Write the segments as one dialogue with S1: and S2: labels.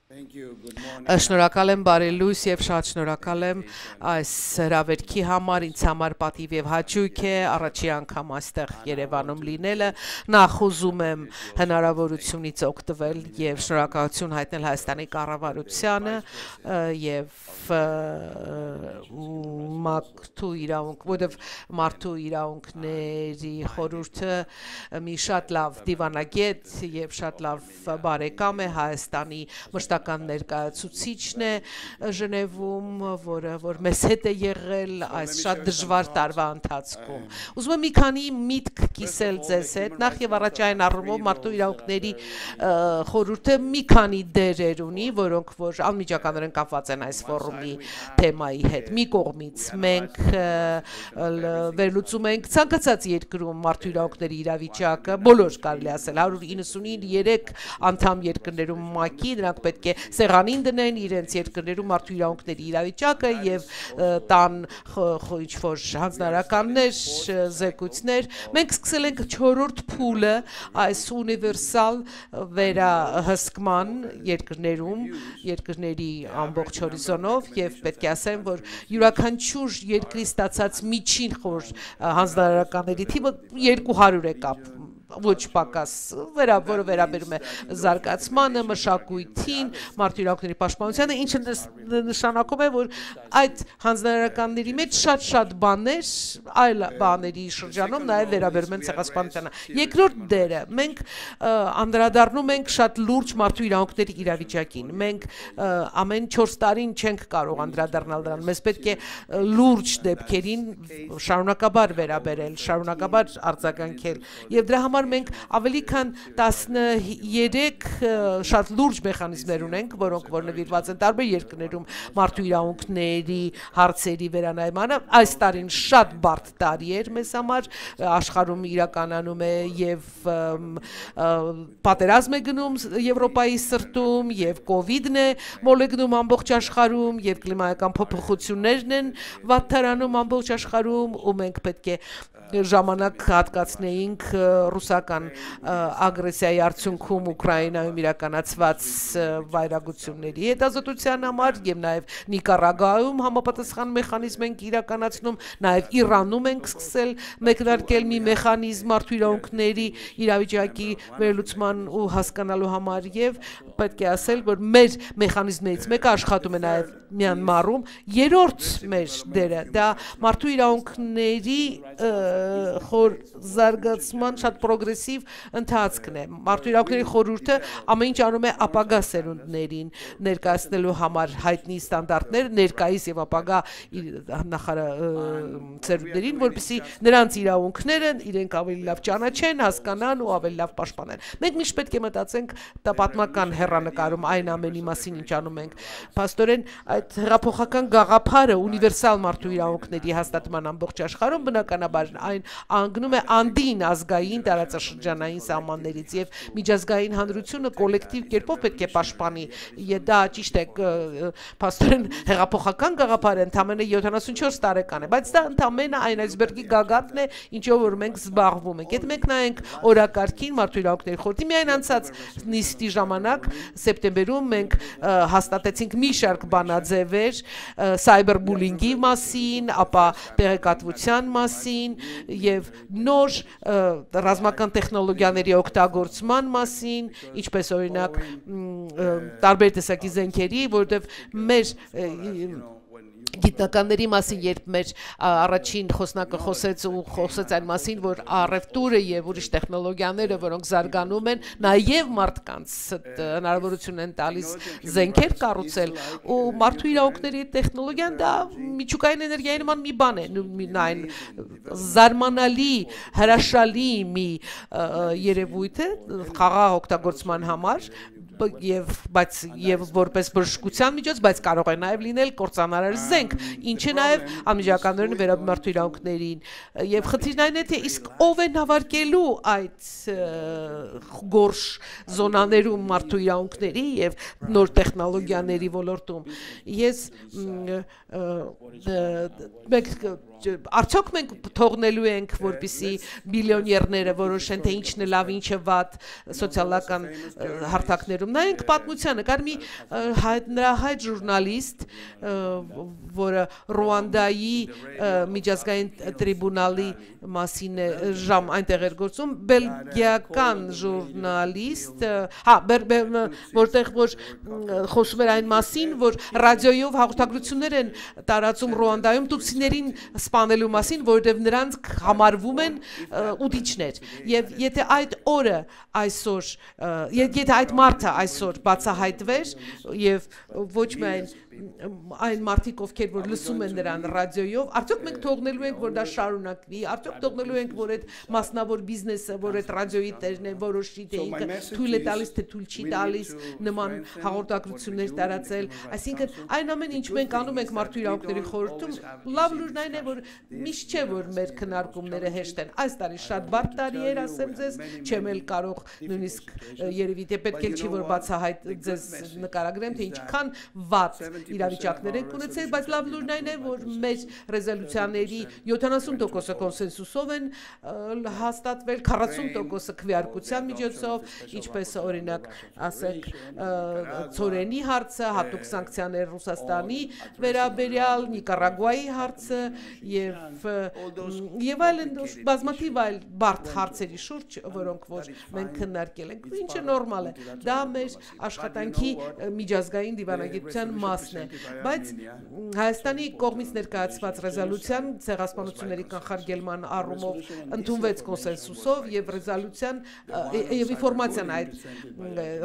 S1: Շնորհակալ եմ բարի լույս եւ շատ շնորհակալ եմ այս հրավերքի համար ինձ համար պատիվ եւ հաճույք է առաջի անգամ այստեղ Երևանում լինելը նախ ուզում եմ հնարավորությունից օգտվել եւ շնորհակալություն հայտնել Հայաստանի կառավարությանը եւ մարդու իրավունք որովհետեւ մարդու իրավունքների խորհուրդը մի շատ լավ դիվանագետ եւ շատ լավ բարեկամ է Հայաստանի մշտական ներկայացուցիչն է Ժնևում, որ մեզ հետ է եղել այս շատ դժվար տարվա ընթացքում։ Ուզում եմ մի քանի միտք կիսել ձեզ հետ, նախ եւ առաջ այն առումով մարդու իրավունքների խորհուրդը մի քանի դերեր ունի, որոնք որ անմիջականորեն կապված են այս ֆորումի թեմայի հետ։ Մի կողմից մենք վերլուծում ենք ցանկացած երկրում մարդու իրավունքների իրավիճակը, բոլոր կարելի ասել 193 անդամ երկրներում ՄԱԿ-ի նրանք պետք է սեղանին դնեն իրենց երկրներում մարդու իրավունքների իրավիճակը եւ տան ինչ-որ հանձնարարականներ, զեկույցներ։ Մենք սկսել ենք 4-րդ փուլը այս ունիվերսալ վերահսկման երկրներում, երկրների ամբողջ հորիզոնով եւ պետք է ասեմ, որ յուրաքանչյուր երկրի ստացած միջին խոր հանձնարարականների թիվը 200 է կապ ոչ պակաս որը վերաբերում է զարգացմանը, մշակույթին, մարդու իրավունքների պաշտպանությանը, ինչը նշանակում է, որ այդ հանձնարարականների մեջ շատ բաներ այլ բաների շրջանում նաև վերաբերում են ցեղասպանությանը։ Երկրորդ դերը մենք անդրադառնում ենք շատ լուրջ մարդու իրավունքների իրավիճակին։ Մենք ամեն 4 տարին չենք կարող անդրադառնալ դրան։ Մեզ պետք է լուրջ դեպքերին շարունակաբար վերաբերել, շարունակաբար արձագանքել։ Եվ դրա համար մենք ավելի քան 13 շատ լուրջ մեխանիզմներ ունենք, որոնք որ նվիրված են տարբեր երկրներում մարդու իրավունքների հարցերի վերանայմանը։ Այս տարին շատ բարդ տարի էր մեզ համար, աշխարհում իրականանում է եւ պատերազմ է գնում Եվրոպայի սրտում, եւ կոവിഡ്ն է մոլեգնում ամբողջ աշխարհում, եւ կլիմայական փոփոխություններն են վատթարանում ամբողջ աշխարհում, ու մենք պետք է ժամանակ հատկացնեինք ռուսական ագրեսիայի արդյունքում Ուկրաինայում իրականացված վայրագությունների հետազոտության համար եւ նաեւ Նիկարագուայում համապատասխան մեխանիզմ ենք իրականացնում, նաեւ Իրանում ենք սկսել մեկնարկել մի մեխանիզմ մարդու իրավունքների իրավիճակի վերլուծման ու հասկանալու համար եւ պետք է ասել, որ մեր մեխանիզմներից մեկը աշխատում է նաեւ Մյանմարում, երրորդ մեր դերը դա մարդու իրավունքների խոր զարգացման շատ պրոգրեսիվ ընթացքն է։ Մարդու իրավունքների խորհուրդը ամեն ինչ անում է ապագա սերունդներին ներկայացնելու համար հայտնի ստանդարտներ ներկայիս եւ ապագա սերունդներին, որպեսզի նրանց իրավունքները իրենք ավելի լավ ճանաչեն, հասկանան ու ավելի լավ պաշտպանեն։ Մենք միշտ պետք է մտածենք պատմական հեռանկարում այն ամենի մասին, ինչ անում ենք։ Փաստորեն այդ հեղափոխական գաղափարը ունիվերսալ մարդու իրավունքների հաստատման ամբողջ աշխարհում բնականաբար այն անգնում է անդին ազգային տարածաշրջանային սահմաններից եւ միջազգային հանրությունը կոլեկտիվ կերպով պետք է պաշտպանի։ Դա ճիշտ է, փաստորեն հեղափոխական գաղափարը ընդամենը 74 տարեկան է, բայց դա ընդամենը այն այսբերգի գագաթն է, ինչով որ մենք զբաղվում ենք։ Եթե մենք նայենք օրակարգին մարդու իրավունքների խորհրդի միայն անցած նիստի ժամանակ սեպտեմբերում մենք հաստատեցինք մի շարք բանաձևեր սայբերբուլինգի մասին, ապա տեղեկատվության մասին եւ նոր ռազմական տեխնոլոգիաների օգտագործման մասին, ինչպես օրինակ տարբեր տեսակի զենքերի, որովհետեւ մեր գիտնականների մասին, երբ մեր առաջին խոսնակը խոսեց այն մասին, որ առևտուրը եւ ուրիշ տեխնոլոգիաները, որոնք զարգանում են, նաեւ մարդկանց հնարավորություն են տալիս զենքեր կառուցել, ու մարդու իրավունքների տեխնոլոգիան դա միջուկային էներգիայի նման մի բան է, այն զարմանալի, հրաշալի մի երևույթ է խաղաղ օգտագործման համար եւ որպես բժշկության միջոց, բայց կարող է նաեւ լինել կործանարար զենք, ինչը նաեւ անմիջականորեն վերաբերում մարդու իրավունքներին եւ խնդիրն այն է, թե իսկ ով է նավարկելու այդ գորշ զոնաներում մարդու իրավունքների եւ նոր տեխնոլոգիաների ոլորտում։ Ես արդյոք մենք թողնելու ենք, որպեսզի միլիոներները որոշեն, թե ինչն է լավ, ինչը վատ սոցիալական հարթակներում։ նայենք պատմությանը, կար մի նրա հայտ ժուրնալիստ, որը Ռուանդայի միջազգային տրիբունալի մասին այնտեղ էր գործում, բելգիական ժուրնալիստ, որտեղ որ խոսում էր այն մասին, որ ռադիոյով հաղորդագրություններ են տարածում Ռուանդայում տուցիներին սպանելու մասին, որովհետև նրանք համարվում են ուտիչներ, եւ եթե այդ օրը այսօր, եթե այդ մարդը այսօր բացահայտվեր եւ ոչ միայն այն մարդիկ, ովքեր որ լսում են նրան ռադիոյով, արդյոք մենք թողնելու ենք, որ դա շարունակվի, արդյոք թողնելու ենք, որ այդ մասնավոր բիզնեսը, որ այդ ռադիոյի տերն է, որոշի թե ինքը թույլ է տալիս, թե թույլ չի տալիս նման հաղորդագրություններ տարածել, այսինքն այն ամեն ինչ մենք անում ենք մարդու իրավունքների խորհրդում, լավ լուրն այն է, որ միշտ չէ, որ մեր քննարկումները հեշտ են, այս տարի շատ բարդ տարի էր, ասեմ ձեզ, չեմ էլ կարող նույնիսկ երևի թե պետք է չի, որ բացահայտ ձեզ նկարագրեմ, թե ինչքան վատ իրավիճակներ ենք ունեցել, բայց լավ լուրն այն է, որ մեր ռեզոլյուցիաների 70%-ը կոնսենսուսով են հաստատվել, 40%-ը քվեարկության միջոցով, ինչպես օրինակ ասենք ծորենի հարցը, հատուկ սանկցիաներ Ռուսաստանի վերաբերյալ, Նիկարագուայի հարցը եւ այլն բազմաթիվ այլ բարդ հարցերի շուրջ, որոնք որ մենք քննարկել ենք, ինչը նորմալ է, դա մեր աշխատանքի միջազգային դիվանագիտության մասն է, բայց Հայաստանի կողմից ներկայացված ռեզոլյուցիան ցեղասպանությունների կանխարգելման առումով ընդունվեց կոնսենսուսով եւ ռեզոլյուցիան եւ ինֆորմացիան այդ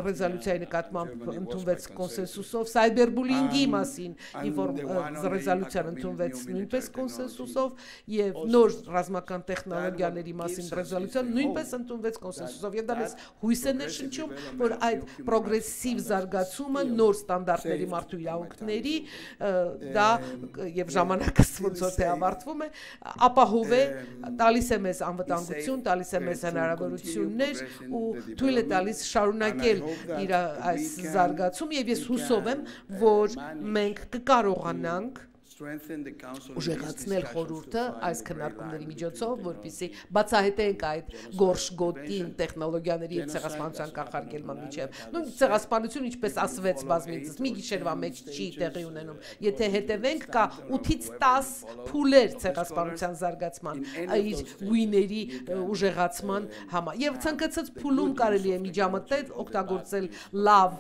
S1: ռեզոլյուցիայի նկատմամբ ընդունվեց կոնսենսուսով, սայբերբուլինգի մասին ռեզոլյուցիան ընդունվեց նույնպես կոնսենսուսով եւ նոր ռազմական տեխնոլոգիաների մասին ռեզոլյուցիան նույնպես ընդունվեց կոնսենսուսով եւ դա մեզ հույս է ներշնչում, որ այդ պրոգրեսիվ զարգացումը նոր ստանդարտների մարդու իրավունքների դա եւ ժամանակը ոնց որ թե ավարտվում է, ապահով է, տալիս է մեզ անվտանգություն, տալիս է մեզ հնարավորություններ ու թույլ է տալիս շարունակել իր այս զարգացումը եւ ես հուսով եմ, որ մենք կկարողանանք ուժեղացնել խորհուրդը այս քննարկումների միջոցով, որպեսզի բացահայտենք այդ գորշ գոտին տեխնոլոգիաների եւ ցեղասպանության կանխարգելման միջև։ Նույն ցեղասպանությունը, ինչպես ասվեց բազմիցս, մի գիշերվա մեջ չի տեղի ունենում։ Եթե հետևենք, կա 8-ից 10 փուլեր ցեղասպանության զարգացման, իր գույների ուժեղացման համար։ Եվ ցանկացած փուլում կարելի է միջամտել, օգտագործել լավ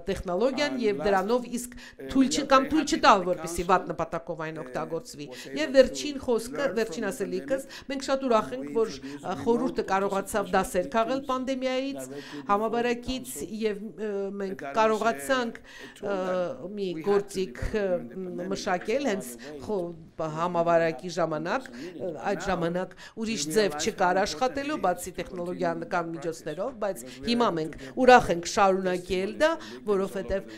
S1: տեխնոլոգիան եւ դրանով իսկ թույլ չտալ, որպեսզի վատ նպատակով այն օգտագործվի։ Եվ վերջին խոսքը, վերջին ասելիքս, մենք շատ ուրախ ենք, որ խորհուրդը կարողացավ դասեր քաղել պանդեմիայից, համավարակից եւ մենք կարողացանք մի գործիք մշակել հենց համավարակի ժամանակ, այդ ժամանակ ուրիշ ձև չկար աշխատելու, բացի տեխնոլոգիական միջոցներով, բայց հիմա մենք ուրախ ենք շարունակել դա, որովհետեւ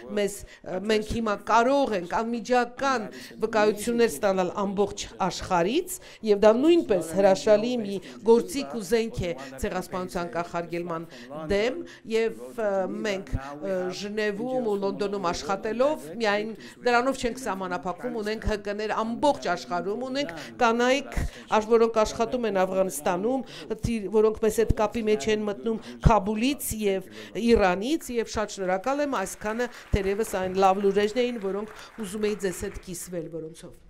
S1: մենք հիմա կարող ենք անմիջական վկայություններ ստանալ ամբողջ աշխարհից եւ դա նույնպես հրաշալի մի գործիք ու զենք է ցեղասպանության կանխարգելման դեմ եւ մենք Ժնևում ու Լոնդոնում աշխատելով միայն դրանով չենք սահմանափակվում, ունենք ՀԿ-ներ ամբողջ աշխարհում, ունենք կանայք, որոնք աշխատում են Աֆղանստանում, որոնք մեզ հետ կապի մեջ են մտնում Քաբուլից եւ Իրանից եւ շատ շնորհակալ եմ, այսքանը թերևս այն լավ լուրերն էին, որոնք ուզում էի ձեզ հետ կիսվել, որոնցով